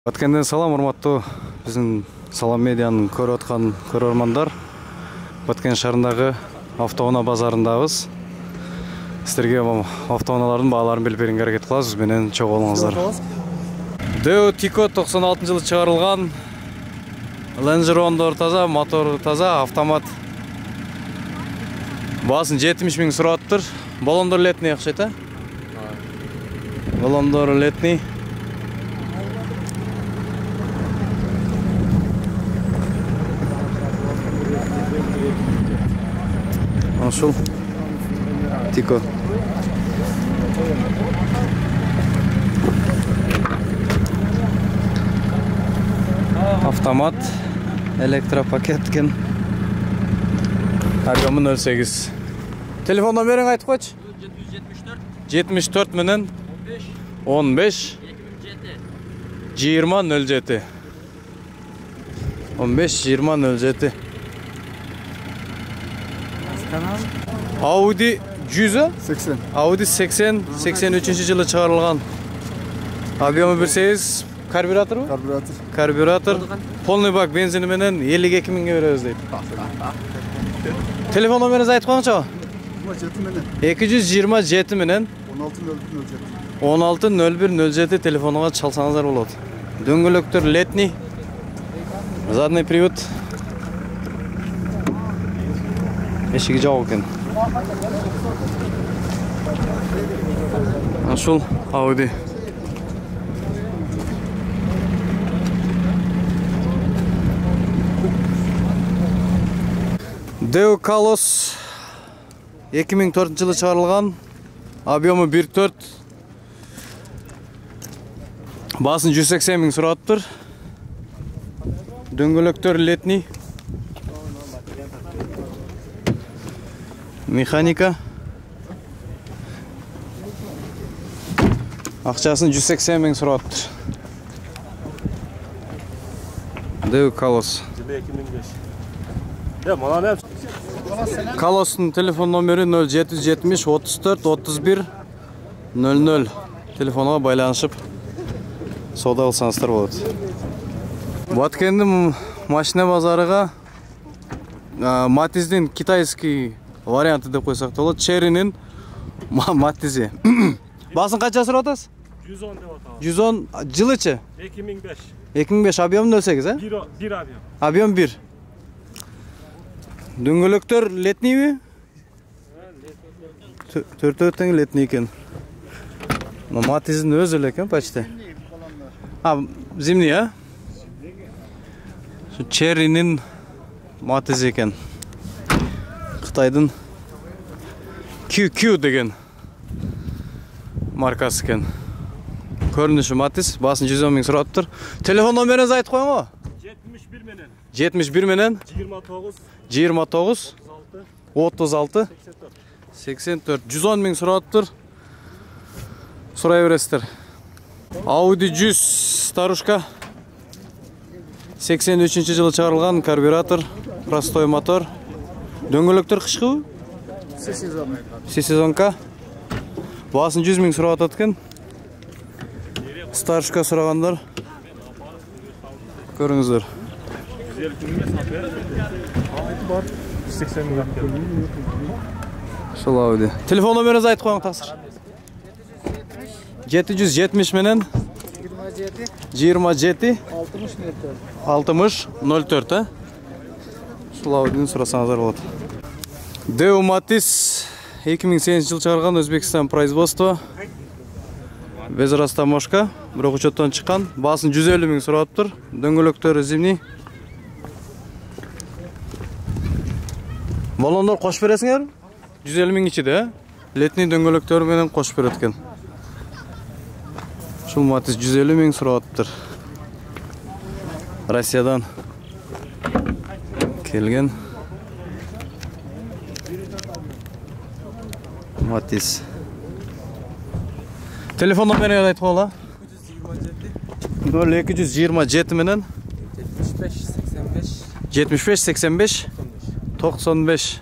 Баткенден салам, урматтуу биздин Салам медианын көрүп аткан көрөрмандар. Баткен шаарындагы автоунаа базарындабыз. Сиздерге автоунаалардын бааларын билип берүүгө аракет кылабыз. Менен чогуу болуңуздар. Deo Tico 96-жылы чыгарылган. Лонжерондор таза, мотору таза, автомат. Баасын 70 миң сурап атыптыр. Баллондор летний акчайт, а? Баллондор летний. Ошол Tico. Автомат, электропакет экен. Объемы 08. Телефон номериң айтып койчу? 74 менен 15 2007. 15 2007. Audi 100, 80. Audi 80, 83-жылы чыгарылган. Объемы 1.8, карбюраторбу? Карбюратор. Карбюратор. Полный бак бензини менен 52 миңге беребиз дейт. Телефон номериңизди айтып коюңчу. 227 менен 160107 телефонуна чалсаңыздар болот. Дөңгөлөктөр летний. Задний привод. Эшиги жабык экен. Ошол Audi. Deo Kalos 2004-жылы чыгарылган. Объемы 1.4. Баасын 180 миң сурап атыптыр. Дөңгөлөктөр летний. Механика. Акчасын 180 миң сурап атыптыр. Deo Kalos. Kalos'un telefon номери 0770 34 31 00. Телефонуна байланышып соода кылсаңыздар болот. Баткендин машина базарыга Матиздин китайский варианты деп койсок болот. Черринин Матизи. Баасын канча сурап атасыз? 110 деп атабыз. 110 жылычы? 2005. 2005 объем 08, а? 1 объем. Объем 1. Дөңгөлөктөр летнийби? Төртөтөн летний экен. Матиздин өзү эле экен почти. Зимний, а? Черринин Матизи экен. Кытайдын QQ деген маркасы экен. Көрүнүшү Матиз, баасын 110 миң сурап атыптыр. Телефон номериңизди айтып коюңбу? 71 менен 71 менен 29 36 84 110 миң сурап атыптыр. Сурай бересиздер. Audi 100 старушка 83-жылы чыгарылган, карбюратор, простой мотор. Дөңгөлөктөр кышкыбы? Сезонка. Баасын 100 миң сурап атат экен. Старушка сурагандар. Көрүңүздөр. 80 миң акча. Ошол Audi. Телефон номериңизди айтып коюң таксыр. 770 менен 27 60 04, а? Ушул Audi'ни сурасаңыздар болот. Deo Matiz 2008-жылы чыгарган, Өзбекстан производство. Без растаможка, бирок учеттон чыккан. Баасын 150 миң сурап атыптыр. Дөңгөлөктөрү зимний. Баллондор кошуп бересиңер? 150 миң ичиде, а? Летний дөңгөлөктөр менен кошуп берет экен. Ушул Матиз 150 миң сурап атыптыр. Россиядан келген Матиз. Телефон номериңди айтып койгула. 0227 менен 75 85 95.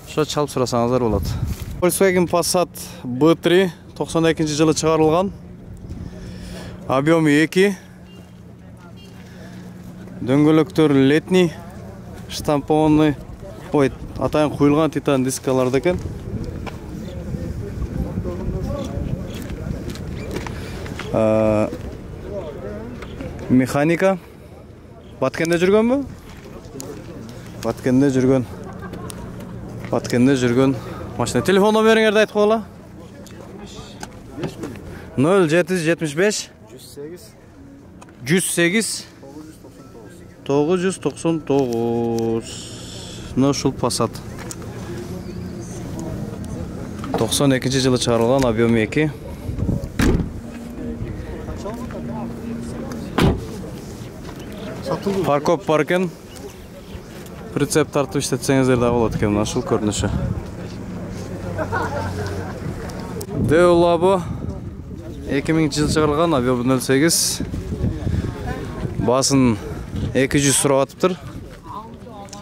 Ошо чалып сурасаңыздар болот. Volkswagen Passat B3 92-жылы чыгарылган. Объемы 2, Дөңгөлөктөр летний, штампованный, ой, атайын куюлган титан дискаларда экен. Механика. Баткенде жүргөнбү? Баткенде жүргөн машина. Телефон номериңерди айтып койгула. 0775 108 999. Ушул Passat. 92-жылы чыгарылган, объем 2. Паркоп бар экен. Прицеп тартып иштетсеңиздер да болот экен, ушул көрүнүшү. Deo Labo 2000-жылы чыгарылган, объем 08. Басын 200 сурап атыптыр.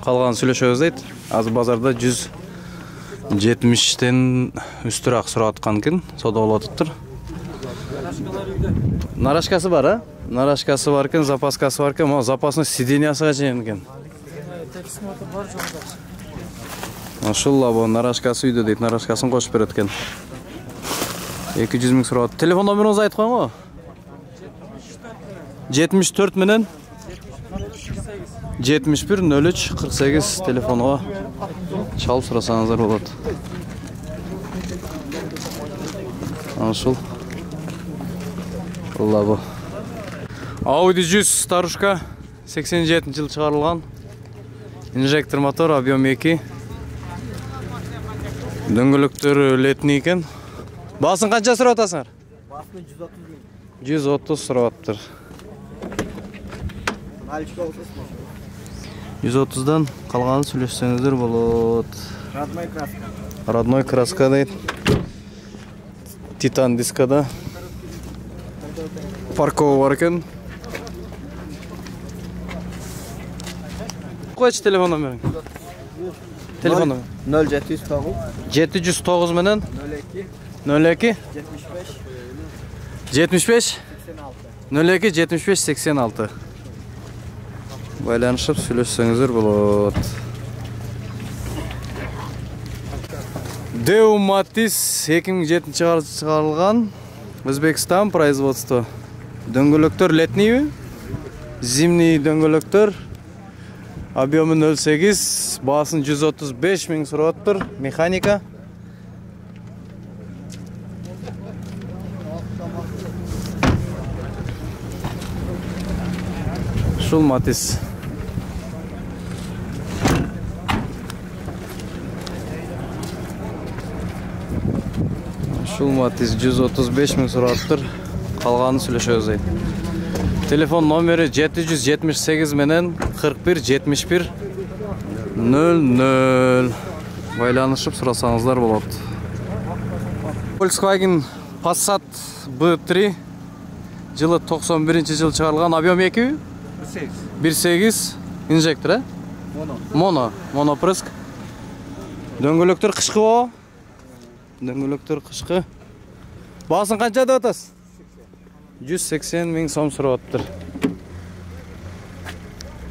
Калган сүйлөшөбүз дейт. Азыр базарда 170тен үстүрөөк сурап аткан экен, соода болуп атыптыр. Нарашкасы бар, а? Нарашкасы бар экен, запаскасы бар экен. Могу запасный сидениясыга чейин экен. Ошол Labo нарашкасы үйдө дейт, нарашкасын кошуп берет экен. 200 миң сурап. Телефон номериңизди айтып коюңбу? 74 менен 71 03 48 телефонуга чалып сурасаңыздар болот. Ошол Labo. Audi 100 старушка 87-жылы чыгарылган. Инжектор мотор, объем 2. Дөңгөлөктөр летний экен. Басын канча сурап атасыңар? Басын 130 миң. 130 сурап атыптыр. 130-дан калганын сүйлөшсөңүздөр болот. Родной краска. Родной краска дейт. Титан дискада. Паркова бар экен. Койчу телефон номериң. Телефон номер. 0709 709 менен 02 02 75 02 75 86. Байланышып сүйлөшсөңүздөр болот. Deo Matiz 2007-жылы чыгарылган. Өзбекстан производство. Дөңгөлөктөр летнийби? Зимний дөңгөлөктөр. Объемы 08, басын 135 миң сурап атыптыр. Механика. Ушул Matiz. Ушул Matiz 135 миң сурап атыптыр. Калганын сүйлөшөбүз дейт. Телефон номери 778 менен 41 71 00. Байланышып сурасаңыздар болот. Volkswagen Passat B3 жылы 91-жылы чыгарылган, объем 2. 1.8 инжектор, э? Монопрыск. Дөңгөлөктөр кышкы го. Дөңгөлөктөр кышкы. Басын канча деп атасыз? 180 миң сом сурап атыптыр.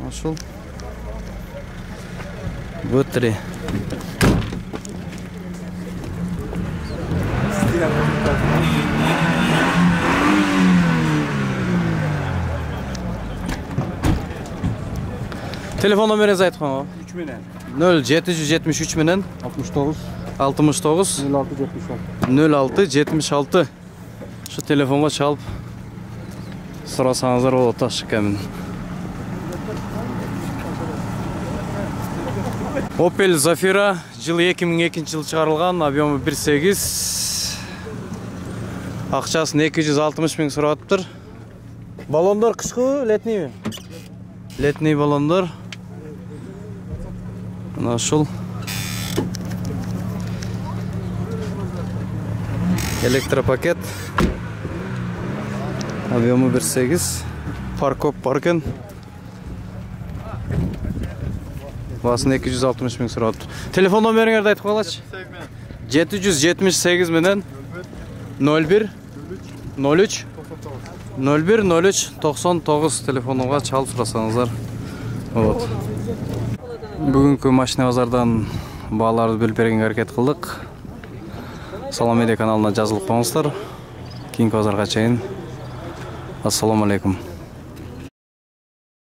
Ошол B3. Телефон номериңизди айтып коюңбу? 3 менен 0773 менен 69 69 06 76. Şu telefonga çalıp сурасаңыздар болот ашыкамын. Opel Zafira жылы 2002-жылы чыгарылган, объемы 1.8. Акчасын 260 миң сурап атыптыр. Баллондор кышкы, летнийби? Летний баллондор. Мына ушул электропакет. Объемы 1.8. Паркоп бар экен. Басын 260 миң сурап атыптыр. Телефон номериңерди айтып коелачы. 778 менен 01 03 01 03 99 телефонуга чалып сурасаңыздар болот. Бүгүнкү машина базардан бааларды билип бергенге аракет кылдык. Салам медиа каналына жазылып коңуздар. Кийинки базарга чейин. Ассаламу алейкум.